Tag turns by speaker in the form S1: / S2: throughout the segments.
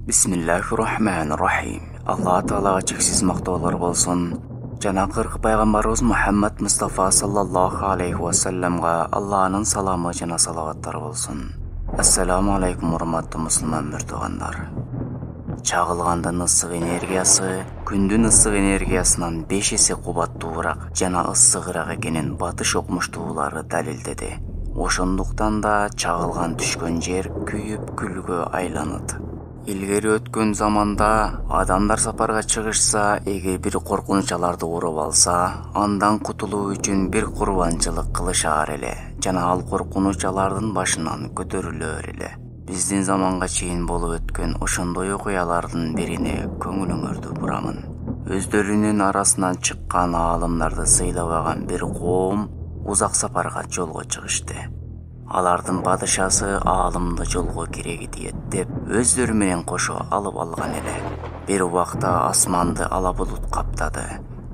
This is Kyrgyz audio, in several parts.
S1: Бисмиллахир-рахманир-рахим. Алла Таалага чексиз мактоолор болсун. Жана кырк пайгамбарыбыз Мухаммад Мустафа саллаллаху алейхи ва салламга Алланын саламы жана салаваттары болсун. Ассаламу алейкум, урматтуу мусулман муртугандар. Чагылгандын ысык энергиясы күндүн ысык энергиясынан 5 эсе кубаттуураак жана ысыгыраак экенин батыш окумуштуулары далилдеди. Ошондуктан да чагылган түшкөн жер күйүп күлгө айланат. Илгери өткөн заманда адамдар сапарга чыгышса, эгер бир коркунуч аларды уруп алса, андан кутулуу үчүн бир курбанчылык кылышаар эле жана ал коркунуч алардын башынан көтөрүлөр эле. Биздин заманга чейин болуп өткөн ошондой окуялардын бирине көңүлүңөрдү бурамын. Өздөрүнүн арасынан чыккан аалымдарды сыйлабаган бир коом узак сапарга жолго чыгышты. Алардын падышасы аалымды жолго кереги тиет деп өздөрү менен кошо алып алган эле. Бир убакта асманды ала булут каптады.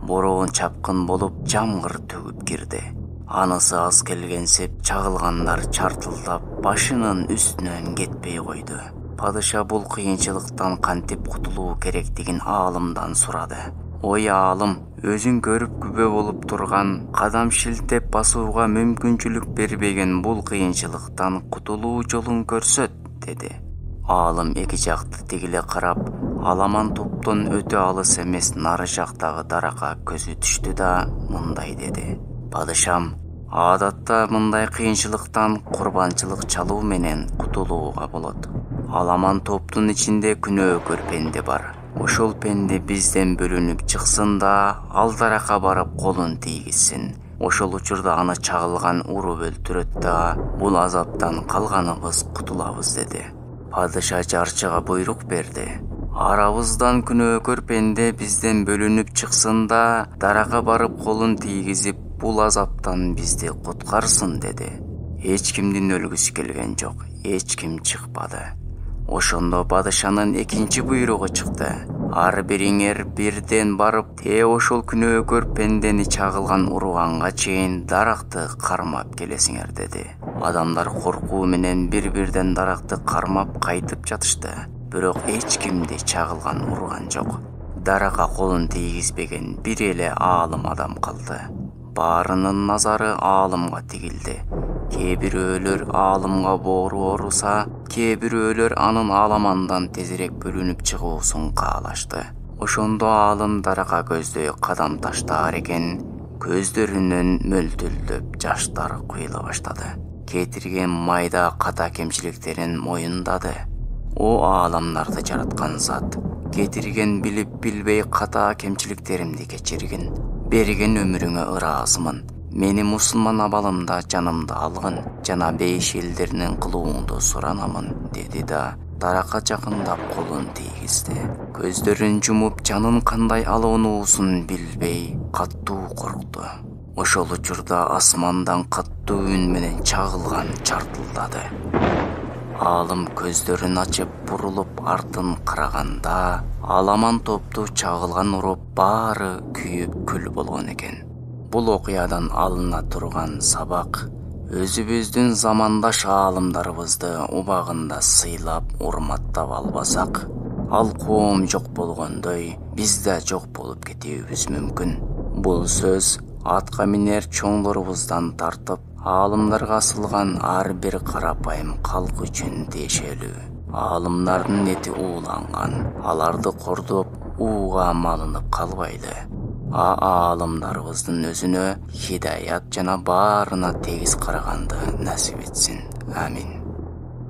S1: Бороон чапкын болуп жамгыр төгүп кирди. Анысы аз келгенсип чагылгандар чартылдап башынын үстүнөн кетпей койду. Падыша бул кыйынчылыктан кантип кутулуу керектигин аалымдан сурады. Ой аалым, өзүң көрүп күбө болуп турган, кадам шилтеп басууга мүмкүнчүлүк бербеген бул кыйынчылыктан кутулуу жолун көрсөт, деди. Аалым эки жакты тигиле карап, аламан топтон өтө алыс эмес нары жактагы даракка көзү түштү да мындай деди. Падышам, адатта мындай кыйынчылыктан курбанчылык чалуу менен кутулууга болот. Аламан топтун ичинде күнөөкөр пенде бар. Ошол пенде бизден бөлүнүп чыксын да, ал даракка барып колун тийгизсин. Ошол учурда аны чагылган уруп өлтүрөт да, бул азаптан калганыбыз кутулабыз, деди. Падыша жарчыга буйрук берди. Арабыздан күнөөкөр пенде бизден бөлүнүп чыксын да, даракка барып колун тийгизип, бул азаптан бизди куткарсын, деди. Эч кимдин өлгүсү келген жок, эч ким чыкпады. Ошондо падышанын экинчи буйругу чыкты. Ар бириңер бирден барып, ошол күнөөкөр пендени чагылган уруганга чейин даракты кармап келесиңер, деди. Адамдар коркуу менен бир-бирден даракты кармап кайтып жатышты. Бирок эч кимди чагылган уруган жок. Даракка колун тийгизбеген бир эле аалым адам калды. Баарынын назары аалымга тигилди. Кээ бирөөлөр аалымга боору ооруса, кээ бирөөлөр анын аламандан тезирээк бөлүнүп чыгуусун каалашты. Ошондо аалым даракка көздөй кадам таштаар экен, көздөрүнөн мөлтүлдөп жаштар куйула баштады. Кетирген майда ката кемчиликтерин моюндады. О ааламдарды жараткан зат, кетирген билип билбей ката кемчиликтеримди кечиргин. Берген өмүрүңө ыраазымын. Мени мусулман абалымда жанымды алгын, жана бейиш элдеринин кылууңду суранамын, деди да даракка жакындап колун тийгизди. Көздөрүн жумуп, жанын кандай алынуусун билбей каттуу коркту. Ошол учурда асмандан каттуу үн менен чагылган чартылдады. Аалым көздөрүн ачып бурулуп артын караганда, аламан топту чагылган уруп баары күйүп күл болгон экен. Бул окуядан алына турган сабак, өзүбүздүн замандаш аалымдарыбызды убагында сыйлап, урматтап албасак, ал коом жок болгондой, биз да жок болуп кетүүбүз мүмкүн. Бул сөз атка минер чоңдорубуздан тартып, аалымдарга асылган ар бир карапайым калк үчүн тиешелүү. Аалымдардын эти ууланган, аларды кордоп, ууга малынып калбайлы. Аалымдарыбыздын өзүнө хидаят жана баарына тегиз караганды насип этсин. Амин.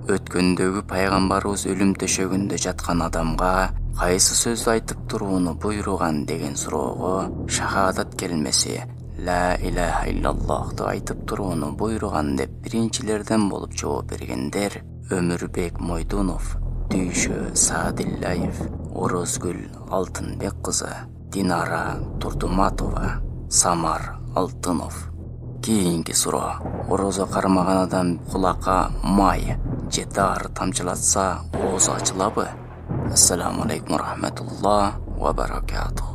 S1: Өткөндөгү пайгамбарыбыз өлүм төшөгүндө жаткан адамга кайсы сөздү айтып турууну буйруган деген суроого шахадат келмеси ла илаха иллаллахты айтып турууну буйруган деп биринчилерден болуп жооп бергендер Өмүрбек Мойдунов, Дүйшө Саадиллаев, Орозгүл Алтынбек кызы, Динара Турдуматова, Самар Алтынов. Кийинки суроо. Орозо кармаган адам кулакка май же дар тамчылатса оозу ачылабы? Ассаламу алейкум ва рахматуллах ва баракатух.